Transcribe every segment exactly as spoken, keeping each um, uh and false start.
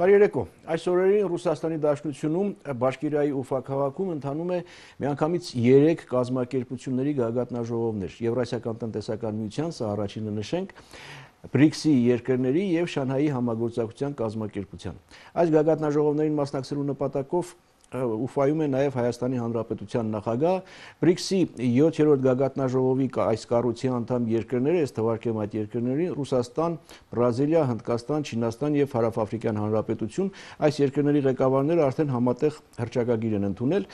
Բարի երեկո։ Այս օրերին Ռուսաստանի Դաշնությունում Բաշկիրիայի Ուֆա քաղաքում ընթանում է միանգամից երեք կազմակերպությունների գագաթնաժողովներ։ Եվրասիական տնտեսական միության, սա առաջինը նշենք, բրիքսի երկրների եւ Շանհայի համագործակցության կազմակերպության։ Այս գագաթնաժողովներին մասնակցելու նպատակով Ուֆայում է նաև Հայաստանի Հանրապետության նախագահ, բրիքսի յոթերորդ գագաթնաժողովի այս կառույցի անդամ երկրները, ես թվարկեմ այդ երկրներին, Ռուսաստան, Բրազիլիա, Հնդկաստան, Չինաստան եւ Հարավաֆրիկյան Հանրապետություն, այս երկրների ղեկավարները արդեն համատեղ հռչակագիր են ընդունել։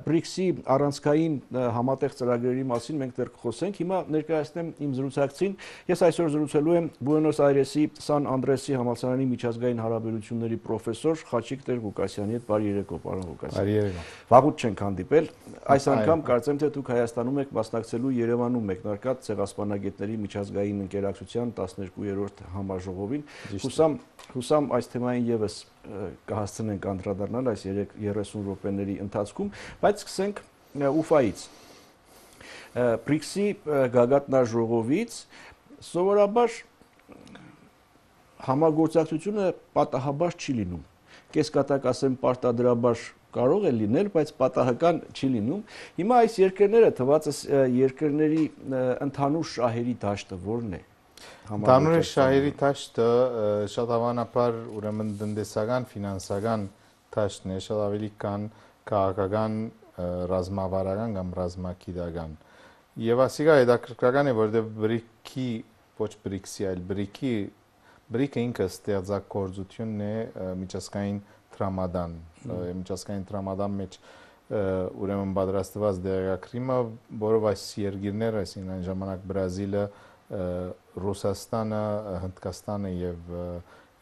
Բրիքսի առանցքային համատեղ ծրագրերի մասին մենք դեռ կխոսենք։ Հիմա ներկայացնեմ իմ զրուցակցին։ Ես այսօր զրուցելու եմ Բուենոս Այրեսի Սան Անդրեսի համալսարանի միջազգային հարաբերությունների պրոֆեսոր Խաչիկ Տեր-Ղուկասյանի հետ։ Բարի երեկո, պարոն Ղուկասյան։ Վաղուց չենք հանդիպել։ Այս անգամ կարծեմ թե դուք Հայաստանում եք մասնակցելու Երևանում մեկնարկած Ցեղասպանագետների միջազգային ընկերակցության տասներկուերորդ համաժողովին։ Հուսամ, հուսամ այս թեմային եւս կհասցնենք անդրադառնալ այս երեսուն րոպեների ընթացքում, բայց սկսենք Ուֆայից։ բրիքսի գագաթնաժողովից սովորաբար համագործակցությունը պատահաբար չի լինում։ Կեսկատակ ասեմ պարտադրաբար կարող է լինել, բայց պատահական չի լինում։ Հիմա այս երկրները թվացս երկրների ընդհանուր շահերի դաշտը որն է։ Ընդհանուր շահերի դաշտը շատ հավանաբար ուրեմն տնտեսական, ֆինանսական դաշտն է, շատ ավելի քան քաղաքական, ռազմավարական կամ ռազմագիտական։ Եվ ասիկա հետաքրքրական է, որովհետև բրիքի, ոչ բրիքսի, այլ բրիքի բրիքը ինքը ստեղծագործությունն է միջազգային տրամադան, միջազգային տրամադան մեջ ուրեմն պատրաստված դեղագրիմը, որով այս երկիրները, այսինքն այն ժամանակ Բրազիլը, Ռուսաստանը, Հնդկաստանը եւ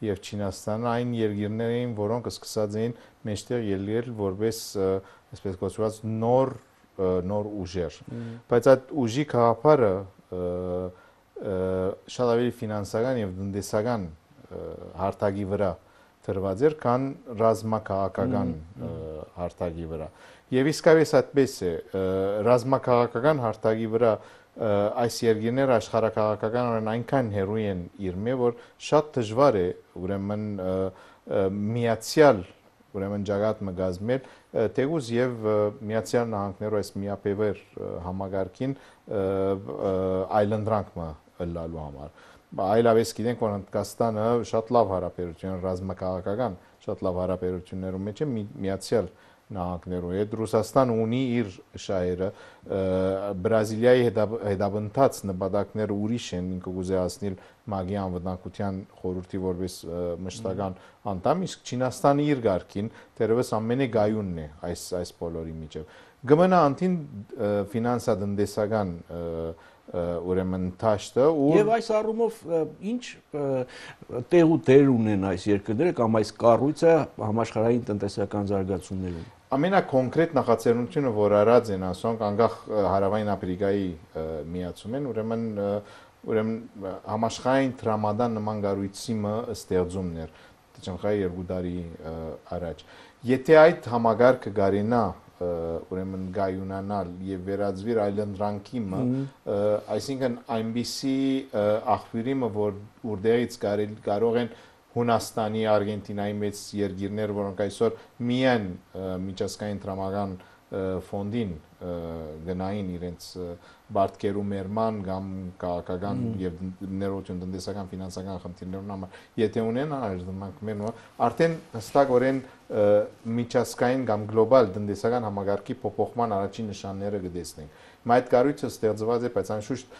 եւ Չինաստանը այն երկիրներ էին, որոնք սկսած էին մեջտեղ ելնել որպես այսպես կոչված նոր նոր ուժեր։ Բայց այդ ուժի գաղափարը շատ ավելի ֆինանսական եւ տնտեսական հարթակի վրա դրված էր, քան ռազմաքաղաքական հարթակի վրա։ Եվ իսկապես այդպես է, ռազմաքաղաքական հարթակի վրա այս երկիրները աշխարհաքաղաքական այնքան հեռու են իրմե, որ շատ դժվար է ուրեմն միացյալ ուրեմն ճակատը գազմել, թեգուզ եւ Միացյալ Նահանգներու այս միապևեր համագարկին այլընտրանքը լալու համար։ Այլապես գիտենք, որ Հնդկաստանը շատ լավ հարաբերություն, ռազմաքաղաքական շատ լավ հարաբերություններում մեջ է Միացյալ Նահանգներու հետ։ Ռուսաստանը ունի իր շահերը, Բրազիլիայի հետապնդած նպատակները ուրիշ են, ինքը կուզեացնել ՄԱԳ-ի անվտանգության խորհրդի որպես մշտական անդամ, իսկ Չինաստանը իր ղարքին դեռևս ամենագայունն է այս այս բոլորի միջև։ Գմնա անտին ֆինանսա-տնտեսական ուրեմն դաշտը եւ այս առումով ինչ տեղ ու դեր ունեն այս երկրները կամ այս կառույցը համաշխարհային տնտեսական զարգացումներում։ Ամենակոնկրետ նախաձեռնությունը, որ արած են ասոնք անգախ Հարավային Աֆրիկայի միացում են, ուրեմն ուրեմն համաշխարհային տրամադան նման կառույցի ստեղծումն էր Չնխայի երկու տարի առաջ։ Եթե այդ համագարկը գարենա ուրեմն գայունանալ եւ վերածվիր այլընտրանքի մը, այսինքն այնպիսի աղբյուրիմը, որ որտեղից կարող են Հունաստանի, Արգենտինայի մեծ երկիրներ, որոնք այսօր միայն միջազգային տրամական ֆոնդին գնային իրենց բարդկերու մերման կամ քաղաքական եւ ներողություն տնտեսական ֆինանսական խնդիրներուն համար եթե ունեն այլընտրանքներ արդեն հստակորեն միջազգային կամ գլոբալ տնտեսական համագարկի փոփոխման առաջին նշանները կտեսնենք։ Հիմա այդ կառույցը ստեղծված է, բայց անշուշտ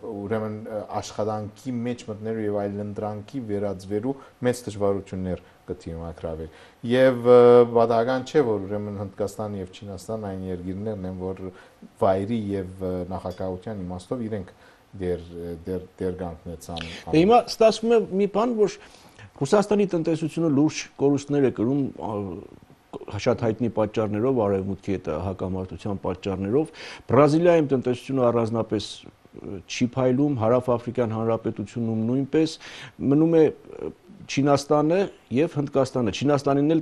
ուրեմն աշխատանքի մեջ մտնելու եւ այլընտրանքի վերածվելու մեծ դժվարություններ կդիմակրավի։ Եվ բադական չէ, որ ուրեմն Հնդկաստանը եւ Չինաստանը այն երկիրներն են, որ վայրի եւ նախագահության իմաստով իրենք դեր դեր դեր գանքնեցան։ Հիմա ստացվում է մի բան, որ Ռուսաստանի տնտեսությունը լուրջ կորուստներ է կրում շատ հայտնի պատճառներով, արևմուտքի հետ հակամարտության պատճառներով, Բրազիլիայում տնտեսությունը առանձնապես չի փայլում, Հարավաֆրիկյան Հանրապետությունում նույնպես, մնում է Չինաստանը եւ Հնդկաստանը։ Չինաստանին էլ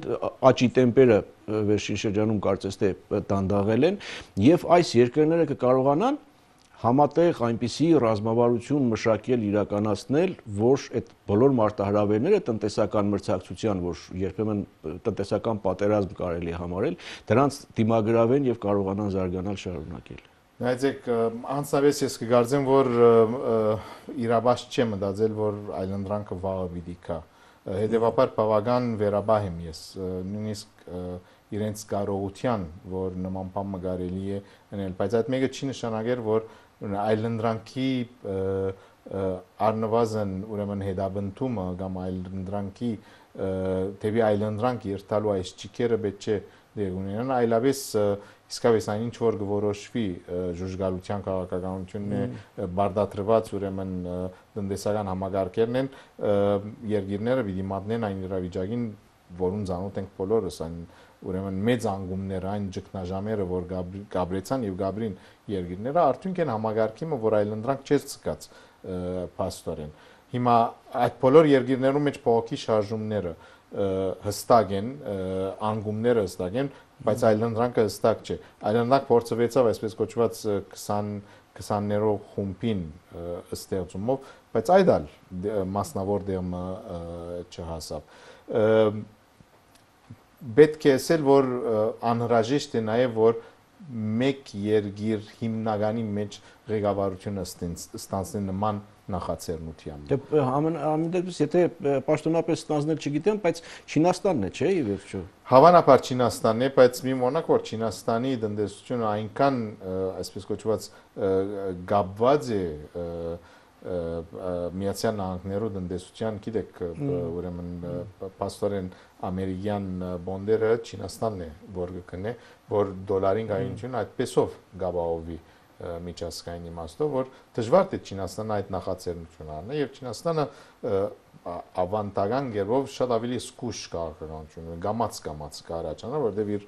աճի տեմպերը վերջին շրջանում կարծես թե դանդաղել են եւ այս երկրները կկարողանան համատեղ այնպիսի ռազմավարություն մշակել, իրականացնել, որ այդ բոլոր մարտահրավերները տնտեսական մրցակցության, որ երբեմն տնտեսական պատերազմ կարելի է համարել, դրանց դիմագրավեն եւ կարողանան զարգանալ, շարունակել։ Նայեցեք, անցնավես ես կգարձեմ, որ իրաբաշ չեմ մտածել, որ այլընտրանքը վաղը պիտի կա։ Հետևաբար բավական վերաբահ եմ ես, նույնիսկ իրենց կարողության, որ նման բան կարելի է անել, բայց այդ մեկը չի նշանակել, որ այլընտրանքի առնվազն ուրեմն հետապնդումը կամ այլընտրանքի թեպի այլընտրանք երթալու այս ճիքերը պետք չէ դեր ունենան, այլապես իսկապես այն ինչ որ գորոշվի ժուժգալության քաղաքականությունն է բարդատրված ուրեմն տնտեսական համագարկերն են երկիրները պիտի մատնեն այն իրավիճակին, որուն ծանոթ ենք բոլորս, այն ուրեմն մեծ անգումները, այն ճգնաժամերը, որ գաբրեցան եւ գաբրին երկիրները արդյունք են համագարկիմը, որ այլընտրանք չէ ցկած փաստորեն։ Հիմա այդ բոլոր երկիրներում մեջ փոխի շարժումները հստակ են, անգումները հստակ են, բայց այլընտրանքը հստակ չէ։ Այլընտրանք փորձվեցավ այսպես կոչված քսաներորդ խումբին ստեղծումով, բայց այդ ալ մասնավոր դերմը չհասավ։ Պետք է ասել, որ անհրաժեշտ է նաև, որ մեկ երկիր հիմնականի մեջ ղեկավարությունը ստանձնի նման նախաձեռնությամբ։ Դե ամեն դեպս եթե պաշտոնապես ստանձնել չգիտեմ, բայց Չինաստանն է, չէ՞, ի վերջո։ Հավանաբար Չինաստանն է, բայց մի մոնակ որ Չինաստանի տնտեսությունը այնքան այսպես կոչված գաբված է Միացյալ Նահանգներու տնտեսության, գիտեք, ուրեմն փաստորեն ամերիկյան բոնդերը Չինաստանն է, որ կգնե, որ դոլարին գայունությունը այդպեսով գաբահովի միջազգային իմաստով, որ դժվար է Չինաստանը այդ նախաձեռնությունը առնի եւ Չինաստանը ավանդական գերով շատ ավելի զգուշ քաղաքականություն, գամած-գամած կարաճանա, որտեղ իր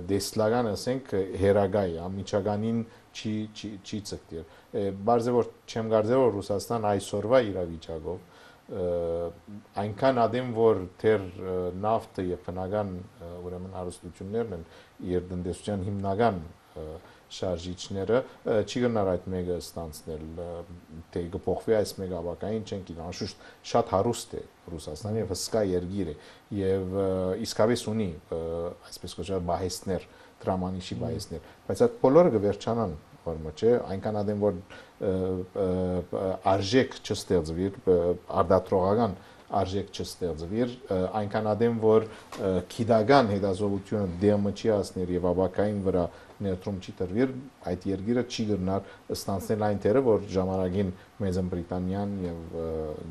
դեսլական ասենք հերագայ, ամիջականին չի չի ցկտիր։ Բարձր որ չեմ կարծել որ Ռուսաստան այսօրվա իրավիճակով այնքան ադեմ որ թեր նավթը եւ բնական ուրեմն հարստություններն են իր տնտեսության հիմնական շարժիչները չի գնար այդ մեկը ստանցնել թե կփոխվի այս մեկը ավակային չեն գիտեմ անշուշտ շատ հարուստ է Ռուսաստանը եւ հսկա երկիր է եւ իսկապես ունի այսպես կոչված բահեսներ դրամանիշի բայեսներ, բայց այդ բոլորը կվերջանան, որ չէ, այնքան ադեմ որ արժեք չստեղծվի, արդատրողական արժեք չստեղծվի, այնքան ադեմ որ քիդական հետազոտությունը դեմը չի հասներ եւ ավակային վրա ներդրում չի տրվի, այդ երկիրը չի գտնար ստանցնել այն թերը, որ ժամանակին Մեծ Բրիտանիան եւ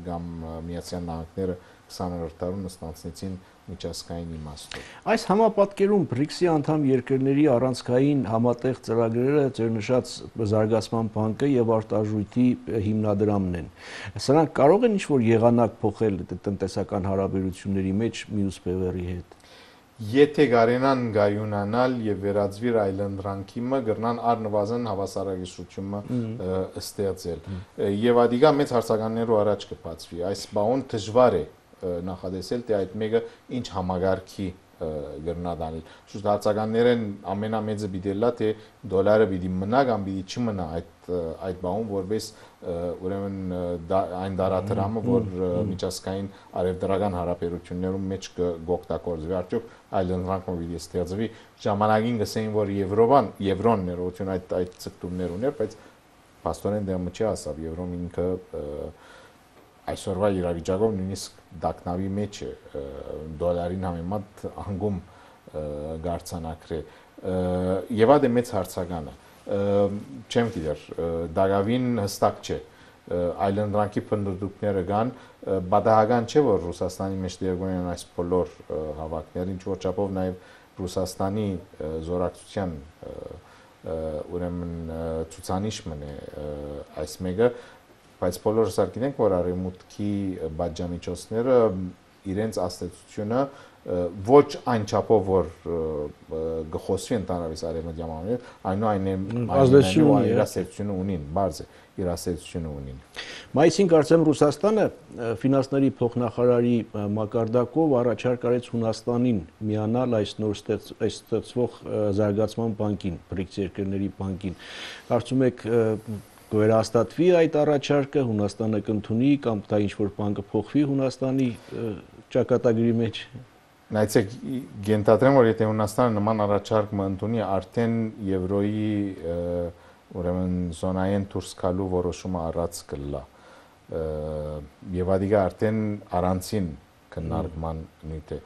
կամ Միացյալ Նահանգները քսաներորդ դարում ստանցնեցին միջազգային իմաստով։ Այս համապատկերում բրիքսի անդամ երկրների առանցքային համատեղ ծրագրերը ձեր նշած զարգացման բանկը եւ արտարժույթի հիմնադրամն են։ Սրանք կարող են ինչ-որ եղանակ փոխել տնտեսական հարաբերությունների մեջ մյուս բևեռի հետ։ Եթե կարենան գայունանալ եւ վերածվիր այլընտրանքիմը գրնան առնվազն հավասարակշռությունը ստեղծել եւ ադիգա մեծ հարցականներու առաջ կբացվի այս բաուն դժվար է նախադեսել թե այդ մեկը ինչ համագարքի գրնադանել շուտ հարցականներն ամենամեծը բիդելա թե դոլարը պիտի մնա կամ պիտի չմնա այդ այդ բաուն որպես ուրեմն այն դարադրամը որ միջազգային արևդրական հարաբերություններում մեջ կօգտագործվի արդյոք այլընտրանքը պիտի ստեղծվի ժամանակին գսեին որ Եվրոպան Եվրոն ներողություն այդ այդ ցկտումներ ուներ բայց փաստորեն դեռ չի հասավ Եվրոն ինքը այսօրվա իրավիճակով նույնիսկ դակնավի մեջ է դոլարին համեմատ անգում գարցանակրե եւ այդ է մեծ հարցականը չեմ գիտեր դակավին հստակ չէ այլընտրանքի փնտրտուքները կան բադահական չէ որ Ռուսաստանի մեջ դերգուն են այս բոլոր հավաքները ինչ որ չափով նաեւ Ռուսաստանի զորակցության ուրեմն ցուցանիշն է այս մեկը բայց բոլորս գիտենք որ արևմուտքի բաժամիջոցները իրենց աստեցությունը ոչ այն չափով որ գխոսվի ընդհանրապես արևմտյան ամենը, այնուամենայնիվ ազդեցություն իր ասացությունը ունին, բարձ է իր ասացությունը ունին։ Մայիսին կարծեմ Ռուսաստանը ֆինանսների փոխնախարարի մակարդակով առաջարկ արեց Հունաստանին միանալ այս նոր ստեղծվող զարգացման բանկին, բրիկս երկրների բանկին։ Կարծում եք կվերահաստատվի այդ առաջարկը, Հունաստանը կընդունի կամ դա ինչ-որ բան կփոխվի Հունաստանի ճակատագրի մեջ։ Նայեցեք, գենթադրեմ, որ եթե Հունաստանը նման առաջարկ ընդունի, արդեն Եվրոյի ուրեմն զոնային դուրս գալու որոշումը առած կլա։ Եվ ադիգա արդեն առանցին քննարկման նյութ է։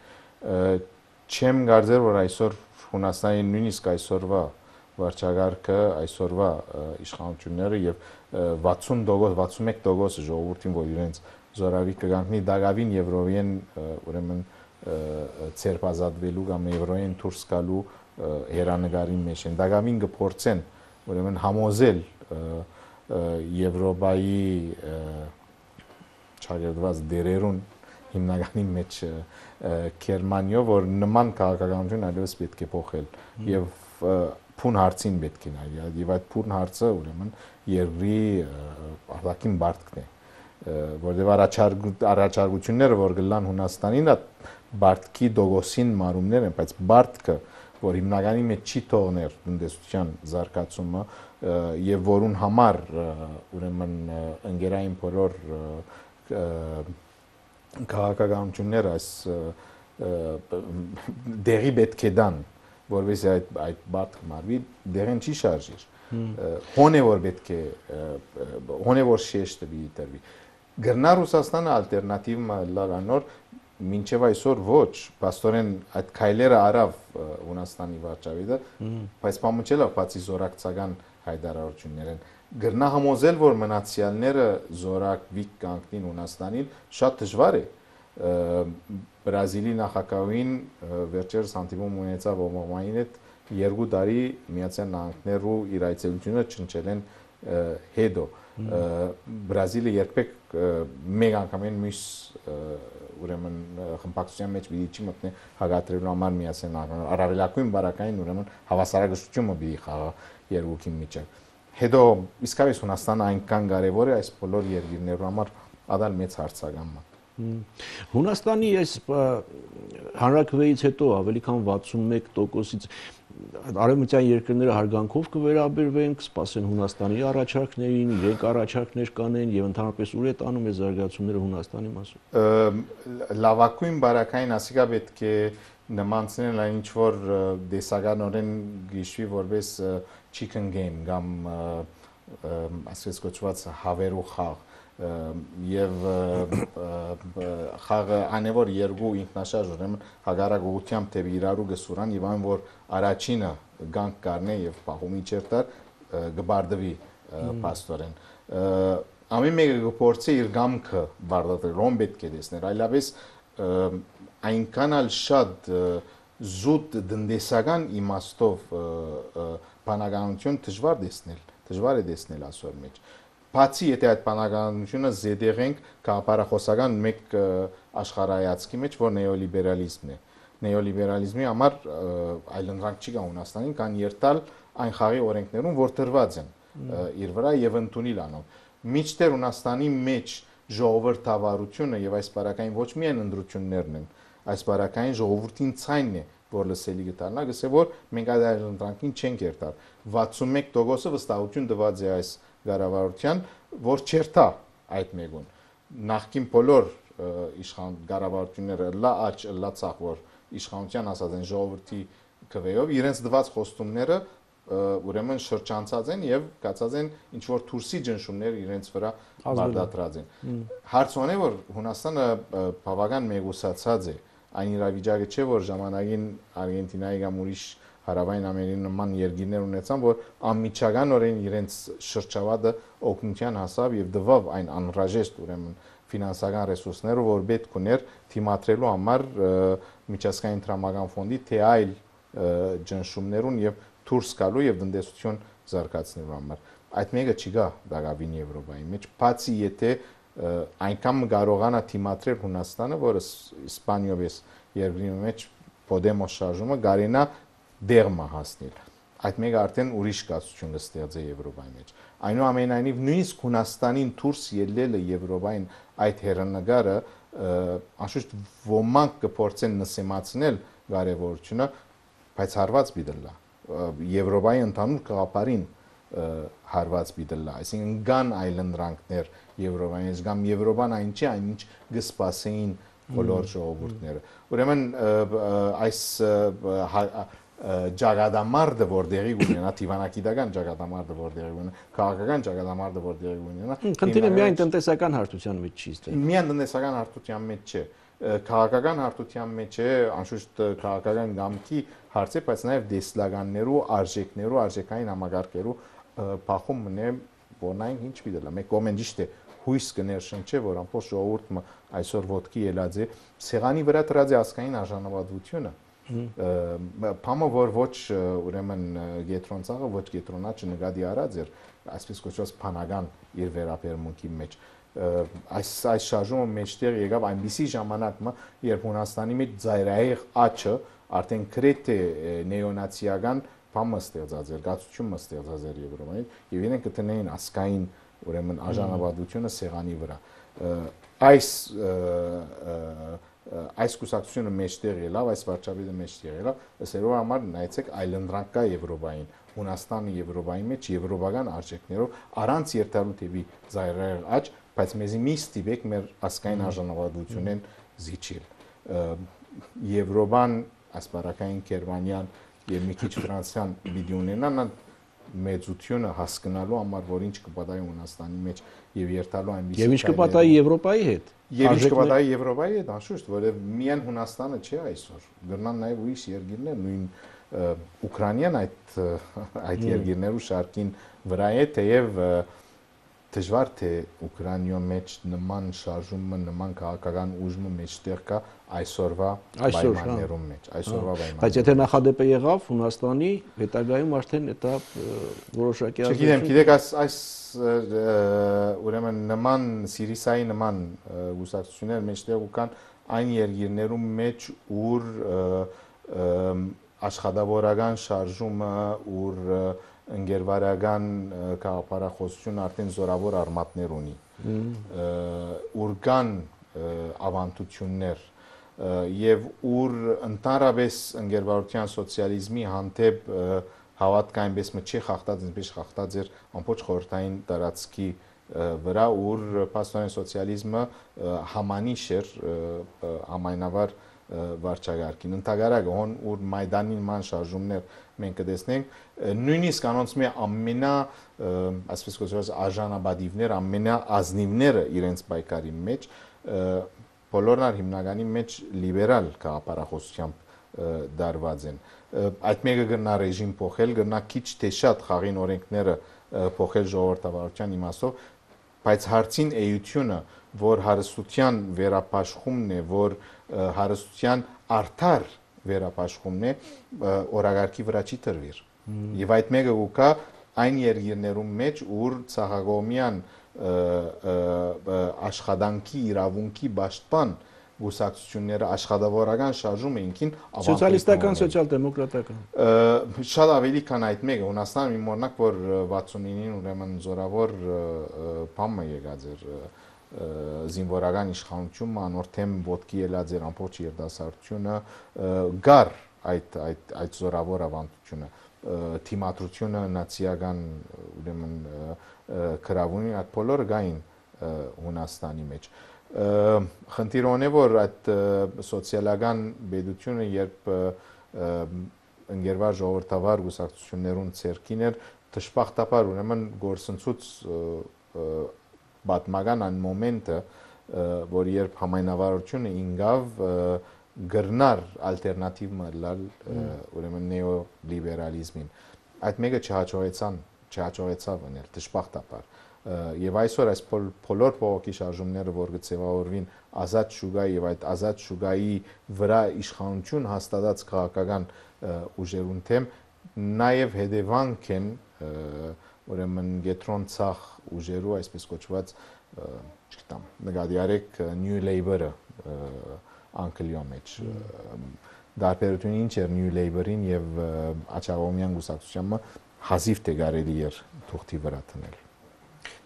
Չեմ կարծեր, որ այսօր Հունաստանի նույնիսկ այսօրվա վարչագահը, այսօրվա իշխանությունները եւ վաթսուն տոկոս, վաթսունմեկ տոկոս ժողովրդին, որ իրենց զորավի կգանքնի դակավին Եվրոյեն ուրեմն ցերպազատվելու կամ Եվրոյեն դուրս գալու հերանեկարի մեջ են։ Դակավին կփորձեն ուրեմն համոզել Եվրոպայի չարերված դերերուն հիմնականի մեջ Գերմանիա, որ նման քաղաքականություն այլևս պետք է փոխել եւ փուն հարցին պետք է նայել եւ այդ փուն հարցը ուրեմն երկրի արտաքին բարտքն է, որտեղ առաջարկությունները որ գլան Հունաստանին բարտքի դոգոսին մարումներ են, բայց բարտքը որ հիմնականի մեջ չի թողներ տնտեսության զարգացումը եւ որուն համար ուրեմն ընկերային բոլոր քաղաքականությունները այս դեղի պետք է դան, որովհետեւ այդ այդ բարտքը մարվի, դեղին չի շարժիր։ Հոնե որ պետք է հոնե որ շեշտը դիտվի։ Գրնա Ռուսաստանը ալտերնատիվը լարանոր մինչև այսօր ոչ, պաստորեն այդ քայլերը արավ Հունաստանի վարչապետը, բայց պամուջելա բացի զորակցական հայտարարություններն գրնա համոզել, որ մնացյալները զորակվիկ կանգնին Հունաստանին, շատ դժվար է։ Բրազիլի նախագահին վերջերս հանդիպում ունեցավ Օբամային հետ երկու տարի Միացյալ Նահանգներու իր այցելությունը չնչել են հետո։ Բրազիլը երբեք մեկ անգամեն մյուս ուրեմն խմբակցության մեջ պիտի չի մտնի հագատրելու համար Միացյալ Նահանգներ, առավելագույն բարակային ուրեմն հավասարակշռությունը պիտի խաղա երկուքի միջև։ Հետո իսկապես Հունաստանը այնքան կարևոր է այս բոլոր երկրներու համար ադալ մեծ հարցական է։ Հունաստանի այս հանրաքվեից հետո ավելի քան վաթսունմեկ տոկոսից արևմտյան երկրները հարգանքով կվերաբերվեն, կսպասեն Հունաստանի առաջարկներին, իրենք առաջարկներ կանեն եւ ընդհանրապես ուր է տանում է զարգացումները Հունաստանի մասում։ Լավագույն բարակային ասիկա պետք է նմանցնել այն ինչ որ դեսականորեն գիշվի որպես chicken game կամ ասես կոչված հավերու խաղ եւ խաղը անևոր երկու ինքնաշարժ ուրեմն հագարակ ուղությամբ թե իրարու գսուրան եւ այն որ առաջինը գանք կառնե եւ պահումի չերտար գբարդվի պաստորեն ամեն մեկը գործի իր գամքը բարդատրել ոն պետք է դեսներ այլապես այնքան ալ շատ զուտ դնդեսական իմաստով բանականություն դժվար դեսնել դժվար է դեսնել ասոր մեջ Բացի եթե այդ բանականությունը զեդեղենք կապարախոսական մեկ աշխարհայացքի մեջ, որ նեոլիբերալիզմն է։ Նեոլիբերալիզմի համար այլընտրանք չի կա Հունաստանին, կան երթալ այն խաղի օրենքներում, որ դրված են իր վրա եւ ընդունիլ անով։ Միջտեր Հունաստանի մեջ ժողովրդավարությունը եւ այս բարակային ոչ միայն ընդրություններն են, այս բարակային ժողովրդին ցայնն է, որ լսելի գտանա, գսե որ մենք այդ այլընտրանքին չենք երթալ։ վաթսունմեկ տոկոսը վստահություն տված է այս Գարավարության, որ չերթա այդ մեգուն։ Նախքին բոլոր իշխան գարավարությունները լա աճ լա ցախ որ իշխանության ասած են ժողովրդի քվեով իրենց դված խոստումները ուրեմն շրջանցած են եւ կացած են ինչ որ թուրսի ջնշումներ իրենց վրա բարդատրած են։ Հարցն է որ Հունաստանը բավական մեգուսացած է այն իրավիճակը չէ որ ժամանակին Արգենտինայի կամ ուրիշ Հարավային Ամերիկայի նման երկիրներ ունեցան, որ անմիջականորեն իրենց շրջավայրը օգնության հասավ եւ դվավ այն անհրաժեշտ ուրեմն ֆինանսական ռեսուրսները, որ պետք ուներ թիմատրելու համար միջազգային տրամական ֆոնդի թե այլ ջնշումներուն եւ դուրս գալու եւ տնտեսություն զարգացնելու համար։ Այդ մեկը չի գա դակավին Եվրոպայի մեջ, բացի եթե այնքան կարողանա թիմատրել Հունաստանը, որը Իսպանիով է երկրի մեջ Podemos շարժումը գարենա դեղմա հասնել։ Այդ մեկը արդեն ուրիշ կացություն կստեղծի Եվրոպայի մեջ։ Այնուամենայնիվ նույնիսկ Հունաստանին դուրս ելնելը Եվրոպային այդ հեռանկարը անշուշտ ոմանք կփորձեն նսեմացնել կարևորությունը, բայց հարված բիդլա Եվրոպայի ընդհանուր գաղափարին հարված բիդլա, այսինքն կան այլընտրանքներ Եվրոպայից, կամ Եվրոպան այն չի, այնինչ կսպասեին բոլոր ժողովուրդները։ Ուրեմն այս ճակատամարտը, որ դեղի ունենա, դիվանագիտական ճակատամարտը, որ դեղի ունենա, քաղաքական ճակատամարտը, որ դեղի ունենա, խնդիրը միայն տնտեսական հարթության մեջ չի ստեղծվում։ Միայն տնտեսական հարթության մեջ չէ, քաղաքական հարթության մեջ է, անշուշտ քաղաքական գամքի հարց է, բայց նաև դեսլականներու, արժեքներու, արժեքային համագարկերու փախում մնե, որն այն ինչ պիտի լա։ Մեկ կողմեն ճիշտ է, հույս կներշնչե, որ ամբողջ ժողովուրդը այսօր ոտքի ելած է, սեղանի վրա դրած է ազգային արժանապատվությունը։ Փամը որ ոչ ուրեմն գետրոնցաղը ոչ գետրոնաճը նկատի արած էր, այսպես կոչված փանական իր վերաբերմունքի մեջ։ Այս այս շարժումը մեջտեղ եկավ այնպիսի ժամանակը, երբ Հունաստանի մեջ ծայրահեղ աճը արդեն գրեթե նեոնացիական փամը ստեղծած էր, գացությունը ստեղծած էր Եվրոպայից, եւ իրենք կտնեին ասկային ուրեմն արժանապատվությունը սեղանի վրա։ Այս այս կուսակցությունը մեջտեղ ելավ, այս վարչապետը մեջտեղ ելավ, ըսերով համար նայեցեք այլընտրանք կա Եվրոպային, Հունաստանը Եվրոպայի մեջ եվրոպական արժեքներով առանց երթալու թեպի ծայրահեղ աճ, բայց մեզի մի ստիպեք մեր ասկային արժանապատվությունեն զիջել։ Եվրոպան, ասպարակային Գերմանիան եւ մի քիչ Ֆրանսիան պիտի ունենան մեծությունը հասկանալու համար, որ ինչ կպատահի Հունաստանի մեջ եւ երթալու այնպիսի եւ ինչ կպատահի Եվրոպայի հետ։ Եվ ինչ կպատահի Եվրոպայի հետ, անշուշտ, որովհետեւ միայն Հունաստանը չէ այսօր, գրնան նաեւ ուրիշ երկիրներ, նույն Ուկրաինան այդ այդ երկիրներու շարքին վրա է, թեև դժվար թե Ուկրաինայում մեջ նման շարժումը, նման քաղաքական ուժը մեջտեղ կա այսօրվա պայմաններում մեջ, այսօրվա պայմաններում։ Բայց եթե նախադեպը եղավ Հունաստանի հետագայում արդեն դա որոշակի ազդեցություն։ Չգիտեմ, գիտեք, այս այս ուրեմն նման Սիրիսայի նման գուսակցություններ մեջտեղ կան այն երկիրներում մեջ, ուր աշխատավորական շարժումը, ուր ընկերվարական քաղաքապարախոսությունը արդեն զորավոր արմատներ ունի, ուր կան ավանդություններ եւ ուր ընդհանրապես ընկերվարության սոցիալիզմի հանդեպ հավատքը այնպես չի խախտած, ինչպես խախտած էր ամբողջ խորհրդային տարածքի վրա, ուր փաստորեն սոցիալիզմը համանիշ էր համայնավար վարչագարկին։ Ընդհանրապես հոն ուր Մայդանի ման շարժումներ մենք կտեսնենք, նույնիսկ անոնց մի ամենա, այսպես կոչված արժանապատիվներ, ամենաազնիվները իրենց պայքարի մեջ, բոլորն հիմնականի մեջ լիբերալ քաղաքապարախոսությամբ դարված են։ Այդ մեկը գնա ռեժիմ փոխել, գնա քիչ թե շատ խաղին օրենքները փոխել ժողովրդավարության իմաստով, բայց հարցին էությունը, որ հարստության վերապաշխումն է, որ հարստության արդար վերապաշխումն է, օրագարկի վրա չի տրվիր։ Եվ այդ մեկը ուկա այն երկիրներում մեջ, ուր ցաղագոմյան աշխատանքի իրավունքի պաշտպան գուսակցությունները աշխատավորական շարժումը ինքին սոցիալիստական, սոցիալ-դեմոկրատական։ Շատ ավելի քան այդ մեկը, Հունաստանը մի մորնակ, որ վաթսունինին ուրեմն զորավոր բամը եկած էր զինվորական իշխանությունը, անորթեմ ոտքի ելած էր ամբողջ երդասարտությունը, գար այդ այդ այդ զորավոր ավանդությունը, թիմադրությունը նացիական ուրեմն քրավունի այդ բոլորը գային Հունաստանի մեջ։ Խնդիրն է, որ այդ սոցիալական բեդությունը, երբ ընկերվար ժողովրդավար գուսակցություններուն ցերքին էր, դժբախտաբար ուրեմն գործընծուց պատմական այն մոմենտը, որ երբ համայնավարությունը ինգավ գրնար ալտերնատիվ մլալ ուրեմն նեոլիբերալիզմին, այդ մեկը չհաջողեցան, չհաջողեցավ անել դժբախտաբար։ Եվ այսօր այս բոլոր փողոքի շարժումները, որ գծեվավորվին ազատ շուգայի եւ այդ ազատ շուգայի վրա իշխանություն հաստատած քաղաքական ուժերուն թեմ, նաեւ հետևանք են ուրեմն գետրոնցախ ուժերու, այսպես կոչված չգիտեմ, նկատի արեք New Labour-ը անկլյո մեջ դարբերությունը ինչ էր New Labour-ին եւ Աչաղոմյան գուսակցությանը հազիվ թե կարելի էր թուղթի վրա տնել։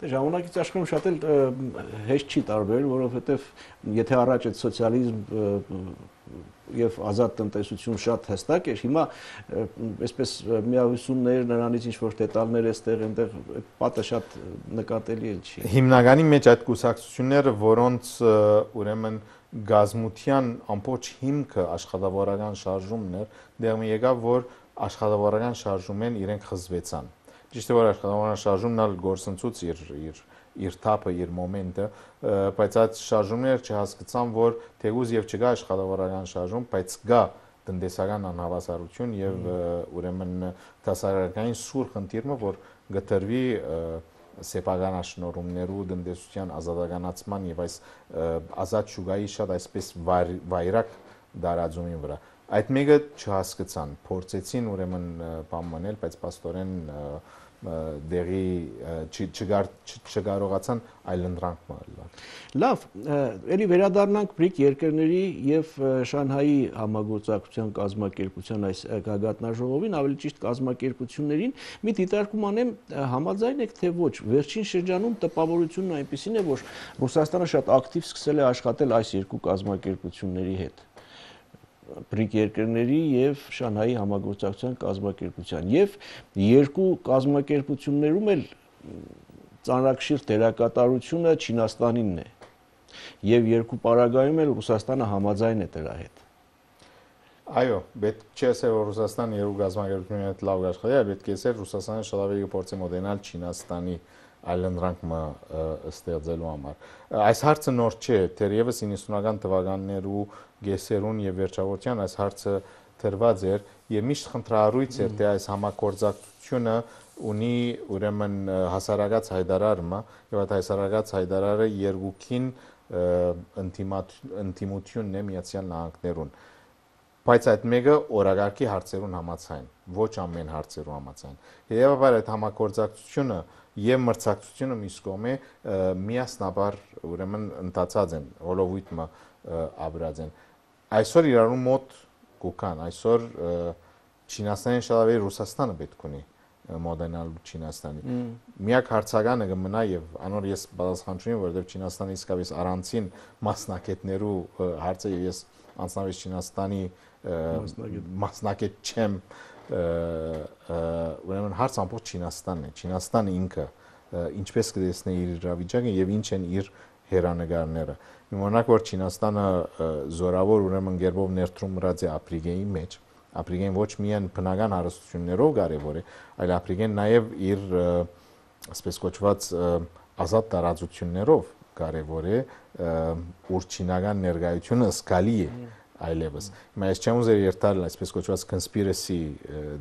Դե ժամանակից աշխարհում շատ էլ հեշտ չի տարբերել, որովհետեւ եթե առաջ այդ սոցիալիզմ եւ ազատ տնտեսություն շատ հստակ էր, հիմա այսպես միահյուսումներ, նրանից ինչ որ դետալներ էստեղ այնտեղ այդ պատը շատ նկատելի էլ չի։ Հիմնականի մեջ այդ կուսակցությունները, որոնց ուրեմն գազմության ամբողջ հիմքը աշխատավորական շարժումն էր, դեռ եկավ որ աշխատավորական շարժումեն իրենք խզվեցան։ Ճիշտ է որ աշխատավորական շարժումն ալ գործընծուց իր իր իր թափը, իր մոմենտը, բայց այդ շարժումները չհասկացան, որ թեգուզ եւ չկա աշխատավորական շարժում, բայց կա տնտեսական անհավասարություն եւ ուրեմն դասարակային սուր խնդիրը, որ գտրվի սեփական աշնորհումներու տնտեսության ազատականացման եւ այս ազատ շուգայի շատ այսպես վայրակ դարաձումի վրա։ Այդ մեկը չհասկացան, փորձեցին ուրեմն բան մնել, բայց պաստորեն դեղի չկարողացան այլընտրանք մալալ։ Լավ, ելի վերադառնանք բրիկ երկրների եւ Շանհայի համագործակցության կազմակերպության այս գագաթնաժողովին, ավելի ճիշտ կազմակերպություններին, մի դիտարկում անեմ, համաձայն եք թե ոչ, վերջին շրջանում տպավորությունն այնպեսին է, որ Ռուսաստանը շատ ակտիվ սկսել է աշխատել այս երկու կազմակերպությունների հետ։ Բրիկ երկրների եւ Շանհայի համագործակցության կազմակերպության եւ երկու կազմակերպություններում էլ ծանրակշիռ դերակատարությունը Չինաստանինն է եւ երկու պարագայում էլ Ռուսաստանը համաձայն է դրա հետ։ Այո, պետք չէ ասել որ Ռուսաստանը երկու կազմակերպությունների հետ լավ աշխատի, այլ պետք է ասել Ռուսաստանը շատ ավելի փորձի մոդենալ Չինաստանի այլընտրանքը ստեղծելու համար։ Այս հարցը նոր չէ, թերևս իննսունական թվականներու գեսերուն եւ վերջավորության այս հարցը թրված էր եւ միշտ խնդրահարույց էր թե այս համագործակցությունը ունի ուրեմն հասարակած հայտարարումը եւ այդ հասարակած հայտարարը երկուքին ինտիմությունն է Միացյալ Նահանգներուն բայց այդ մեկը օրակարգի հարցերուն համաձայն ոչ ամեն հարցերու համաձայն եւ այդ համագործակցությունը եւ մրցակցությունը մյուս կողմը միասնաբար ուրեմն ընթացած են հոլովույթը ապրած են այսօր իրարու մոտ կուքան այսօր Չինաստանին շատ ավելի Ռուսաստանը պետք ունի մոդենալ Չինաստանի միակ հարցականը կմնա եւ անոր ես պատասխանչունի որովհետեւ Չինաստանը իսկապես առանցին մասնակետներու հարցը եւ ես անձնապես Չինաստանի մասնակետ չեմ ուրեմն հարց ամբողջ Չինաստանն է Չինաստանը ինքը ինչպես կտեսնի իր իրավիճակը եւ ինչ են իր հերանեկարները Իմանաք որ Չինաստանը զորավոր ուրեմն գերբով ներդրում մրած է Աֆրիկայի մեջ Աֆրիկան ոչ միայն բնական հարստություններով կարևոր է այլ Աֆրիկան նաեւ իր ասես կոչված ազատ տարածություններով կարևոր է ուր չինական ներկայությունը զգալի է այլևս հիմա ես չեմ ուզեր երթալ այսպես կոչված conspiracy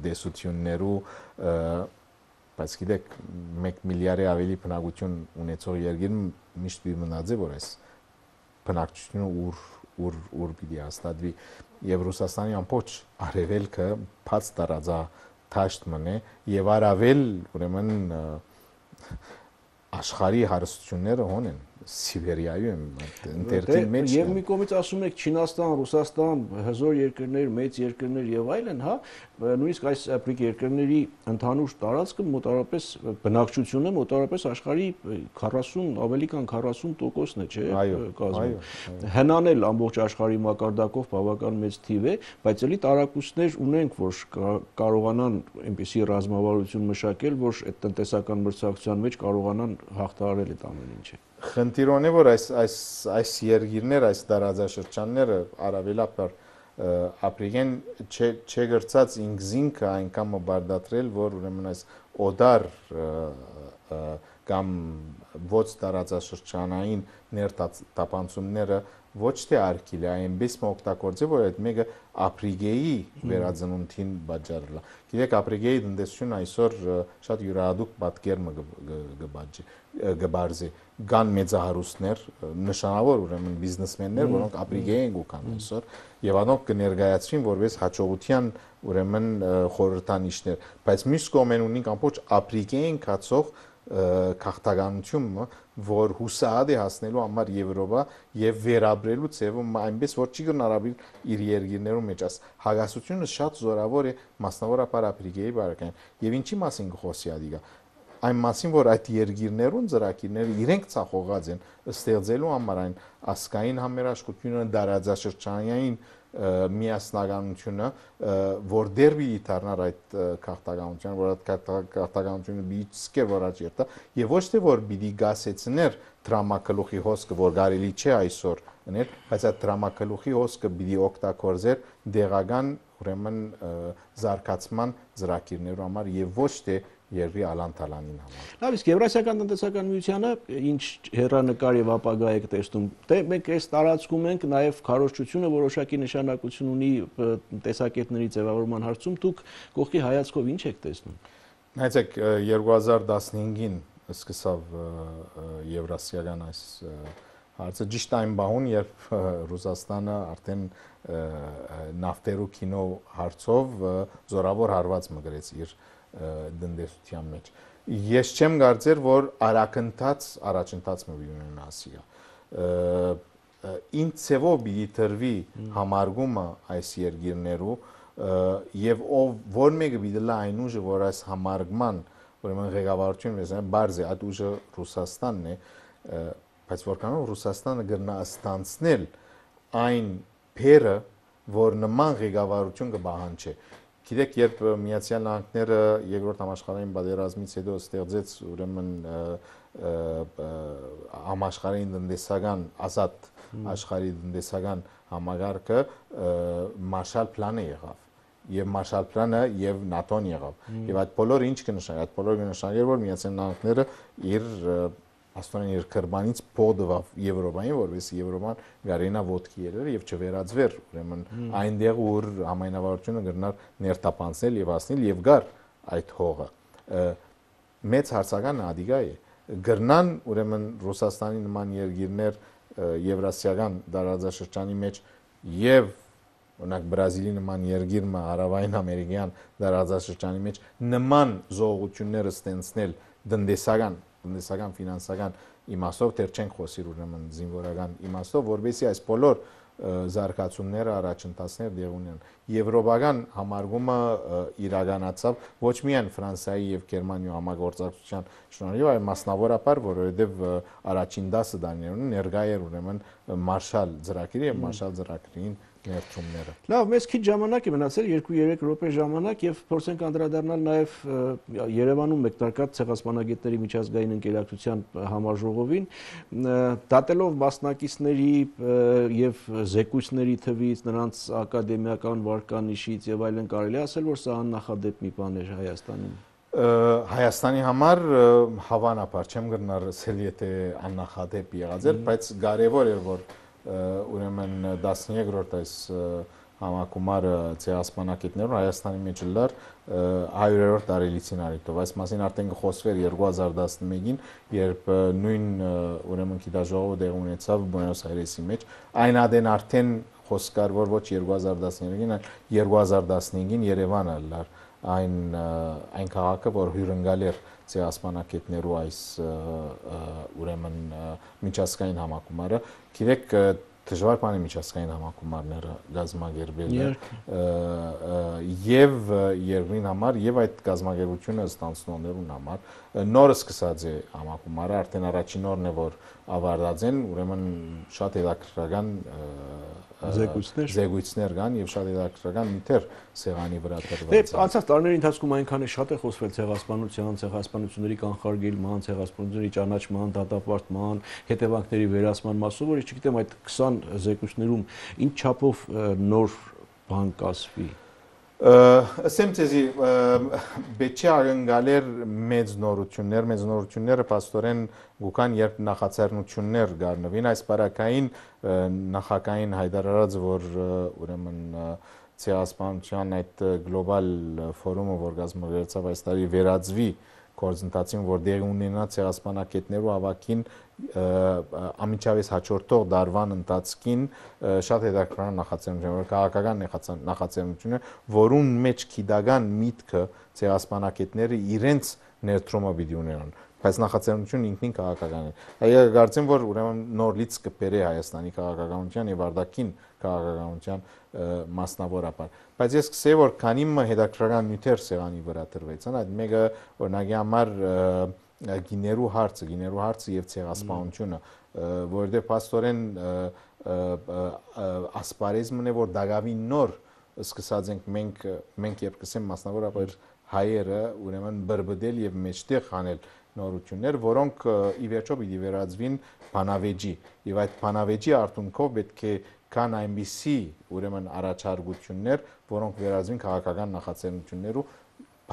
դեսություններու բայց գիտեք մեկ միլիարդի ավելի բնակություն ունեցող երկիր միշտ մի մնաց է որ այս բնակչությունը ուր ուր ուր պիտի հաստատվի եւ Ռուսաստանի ամբողջ արևելքը բաց տարածա թաշտ մնե եւ արավել ուրեմն աշխարհի հարստությունները հոն են Սիբերիայում ընտերտին մեջ եւ մի կողմից ասում եք Չինաստան, Ռուսաստան, հզոր երկրներ, մեծ երկրներ եւ այլն, հա, նույնիսկ այս բրիկ երկրների ընդհանուր տարածքը մոտավորապես բնակչությունը մոտավորապես աշխարհի քառասուն, ավելի քան քառասուն տոկոսն է, չէ՞, կազմում։ Հնանել ամբողջ աշխարհի մակարդակով բավական մեծ թիվ է, բայց էլի տարակուսներ ունենք, որ կարողանան այնպիսի ռազմավարություն մշակել, որ այդ տնտեսական մրցակցության մեջ կարողանան հաղթահարել այդ ամեն ինչը։ Խնդիրոն է որ այս այս այս երկիրներ այս տարածաշրջանները արավելապար ապրիգեն չգրծած ինքզինքը այնքան մբարդատրել որ ուրեմն այս օդար կամ ոչ տարածաշրջանային ներտապանցումները ոչ թե արկիլ է այնպես մօգտագործել որ այդ մեկը ապրիգեի վերածնունդին բաժարել է գիտեք ապրիգեի տնտեսությունը այսօր շատ յուրահատուկ պատկերը գբաժի գբարզի կան մեծահարուստներ նշանավոր ուրեմն բիզնեսմեններ որոնք ապրիգեին գուքան այսօր եւ անոնք կներկայացվին որպես հաջողության ուրեմն խորհրդանիշներ բայց մյուս կողմեն ունենք ամբողջ ապրիգեին կացող քաղաքականությունը, որ հուսահատ է հասնելու համար Եվրոպա եւ վերաբերելու ձևում այնպես որ չի գնարաբիլ իր երկիրներում մեջ աս հագասությունը շատ զորավոր է մասնավորապես Աֆրիկայի բարակային եւ ինչի մասին խոսի ադիգա այն մասին որ այդ երկիրներուն ծրագիրները իրենք ցախողած են ստեղծելու համար այն ասկային համերաշխությունը դարաձաշրջանային միասնականությունը որ դեր պիտի դառնար այդ քաղաքականության որ այդ քաղաքականությունը պիտի սկեր որ աճերտա եւ ոչ թե որ պիտի գասեցներ դրամակլուխի հոսքը որ կարելի չէ այսօր անել բայց այդ դրամակլուխի հոսքը պիտի օգտագործեր դեղական ուրեմն զարգացման ծրագիրներու համար եւ ոչ թե երկրի ալանտալանին համար։ Լավ, իսկ Եվրասիական տնտեսական միությանը ինչ հեռանկար եւ ապագա եք տեսնում։ Դե մենք այս տարածքում ենք նաեւ քարոզչությունը որոշակի նշանակություն ունի տեսակետների ձևավորման հարցում, դուք կողքի հայացքով ինչ եք տեսնում։ Նայեցեք երկու հազար տասնհինգին սկսավ Եվրասիական այս հարցը ճիշտ այն բահուն, երբ Ռուսաստանը արդեն նավթերու կինո հարցով զորավոր հարված մգրեց իր դնդեսության մեջ։ Ես չեմ կարծեր, որ արակընթաց առաջընթաց մը ունենա ասիա։ Ինչ ցևով պիտի տրվի համարգումը այս երկիրներու եւ ով որ մեկը պիտի լա այն ուժը, որ այս համարգման, ուրեմն ղեկավարություն վեզան բարձ է, այդ ուժը Ռուսաստանն է, բայց որքանով Ռուսաստանը գրնա ստանցնել այն փերը, որ նման ղեկավարություն կբահանջի։ Գիտեք, երբ Միացյալ Նահանգները երկրորդ համաշխարհային պատերազմից հետո ստեղծեց ուրեմն համաշխարհային տնտեսական ազատ աշխարհի տնտեսական համագարկը Մարշալ պլանը եղավ եւ Մարշալ պլանը եւ ՆԱՏՕ-ն եղավ եւ այդ բոլորը ինչ կնշանակի այդ բոլորը կնշանակի որ Միացյալ Նահանգները իր աստորեն իր քրբանից փոդվավ Եվրոպային, որովհետեւ Եվրոպան գարենա ոտքի երեր եւ չվերածվեր, ուրեմն այնտեղ որ համայնավարությունը գրնար ներտապանցնել եւ ասնել եւ գար այդ հողը։ Մեծ հարցական ադիգա է։ Գրնան ուրեմն Ռուսաստանի նման երկիրներ Եվրասիական դարաձաշրջանի մեջ եւ օրինակ Բրազիլի նման երկիրը հարավային ամերիկյան դարաձաշրջանի մեջ նման զողությունները ստենցնել տնտեսական տնտեսական ֆինանսական իմաստով դեռ չենք խոսիր ուրեմն զինվորական իմաստով որովհետեւ այս բոլոր զարգացումները առաջընթացներ դեղ ունեն եվրոպական համարգումը իրականացավ ոչ միայն Ֆրանսիայի եւ Գերմանիայի համագործակցության շնորհիվ այլ մասնավորապես որովհետեւ առաջին դասը դարներուն ներկա էր ուրեմն Մարշալ ծրագիրը եւ Մարշալ ծրագրին ներդրումները։ Լավ, մեզ քիչ ժամանակ է մնացել, երկու-երեք րոպե ժամանակ եւ փորձենք անդրադառնալ նաեւ Երևանում մեկնարկած ցեղասպանագետների միջազգային ընկերակցության համաժողովին, դատելով մասնակիցների եւ զեկույցների թվից, նրանց ակադեմիական վարկանիշից եւ այլն կարելի ասել, որ սա աննախադեպ մի բան էր Հայաստանում։ Հայաստանի համար հավանաբար չեմ գտնար ասել, եթե աննախադեպ եղած էր, բայց կարեւոր էր որ ուրեմն տասներորդ այս համակումարը ցեղասպանագետներուն Հայաստանի մեջ լար հարյուրերորդ տարելիցին արիտով այս մասին արդեն խոսվեր երկու հազար տասնմեկին երբ նույն ուրեմն գիտաժողովը դեղ ունեցավ Բուենոս Այրեսի մեջ այն ադեն արդեն խոսք կար որ ոչ երկու հազար տասներեքին այլ երկու հազար տասնհինգին Երևանը լար այն այն քաղաքը որ հյուրընկալ էր ցեղասպանագետներու այս ուրեմն միջազգային համակումարը գիտեք դժվար բան է միջազգային համակումարները գազագերբելը եւ երկրին համար եւ այդ գազագերբությունը ստանցնողներուն համար նորը սկսած է համակումարը արդեն առաջին օրն է որ ավարտած են ուրեմն շատ հետաքրքրական զեկույցներ զեկույցներ կան եւ շատ հետաքրքրական միտեր սեղանի վրա դրված են։ Անցած տարիների ընթացքում այնքան է շատ է խոսվել ցեղասպանության, ցեղասպանությունների կանխարգելման, ցեղասպանությունների ճանաչման, դատապարտման, հետևանքների վերացման մասով, որ չգիտեմ այդ քսան զեկույցներում ինչ չափով նոր բան կասվի։ Ասեմ ցեզի բեչի արգալեր մեծ նորություններ, մեծ նորությունները պաստորեն գուկան երբ նախաձեռնություններ գարնվին այս բարակային նախակային հայտարարած որ ուրեմն ցեղասպանության այդ գլոբալ ֆորումը որ կազմակերպեցավ այս տարի վերածվի գործընթացին որ դեղ ունենա ցեղասպանագետներու ավակին ամիջավես հաջորդող դարվան ընթացքին շատ հետաքրքրական նախաձեռնություն որ քաղաքական նախաձեռնություն է որուն մեջ քիդական միտքը ցեղասպանագետները իրենց ներդրումը պիտի ունենան բայց նախաձեռնությունը ինքնին քաղաքական է։ Այո, կարծեմ, որ ուրեմն նոր լիցք կբերի Հայաստանի քաղաքականության եւ արտաքին քաղաքականության մասնավորապես։ Բայց ես կսեի, որ քանի հետաքրքրական նյութեր սեղանի վրա դրվեցան, այդ մեկը օրինակի համար գիներու հարցը, գիներու հարցը եւ ցեղասպանությունը, որովհետեւ փաստորեն ասպարեզմն է, որ դակավին նոր սկսած ենք մենք մենք երբ կսեմ մասնավորապես հայերը ուրեմն բրբդել եւ մեջտեղ հանել նորություններ, որոնք ի վերջո պիտի վերածվին բանավեճի եւ այդ բանավեճի արդյունքով պետք է կան այնպիսի ուրեմն առաջարկություններ, որոնք վերածվին քաղաքական նախաձեռնություններու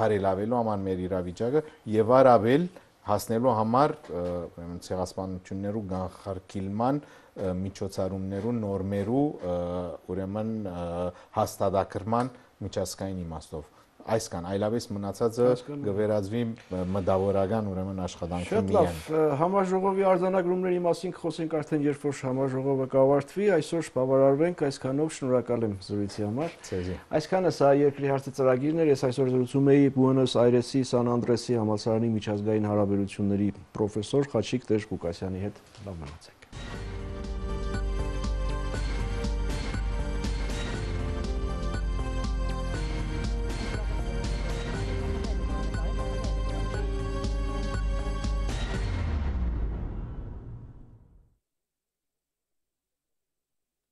բարելավելու համար մեր իրավիճակը եւ առավել հասնելու համար ուրեմն ցեղասպանություններու կանխարգելման միջոցառումներու նորմերու ուրեմն հաստատակրման միջազգային իմաստով այսքան այլապես մնացածը կվերածվի մտավորական ուրեմն աշխատանքի միայն։ Շատ լավ, համաժողովի արձանագրումների մասին կխոսենք արդեն երբ որ համաժողովը կավարտվի, այսօր բավարարվենք այսքանով, շնորհակալ եմ զրույցի համար։ Այսքանը սա երկրի հարցի ծրագիրն էր, ես այսօր զրուցում էի Բուենոս Այրեսի Սան Անդրեսի համալսարանի միջազգային հարաբերությունների պրոֆեսոր Խաչիկ Տեր-Ղուկասյանի հետ։ Լավ մնացեք։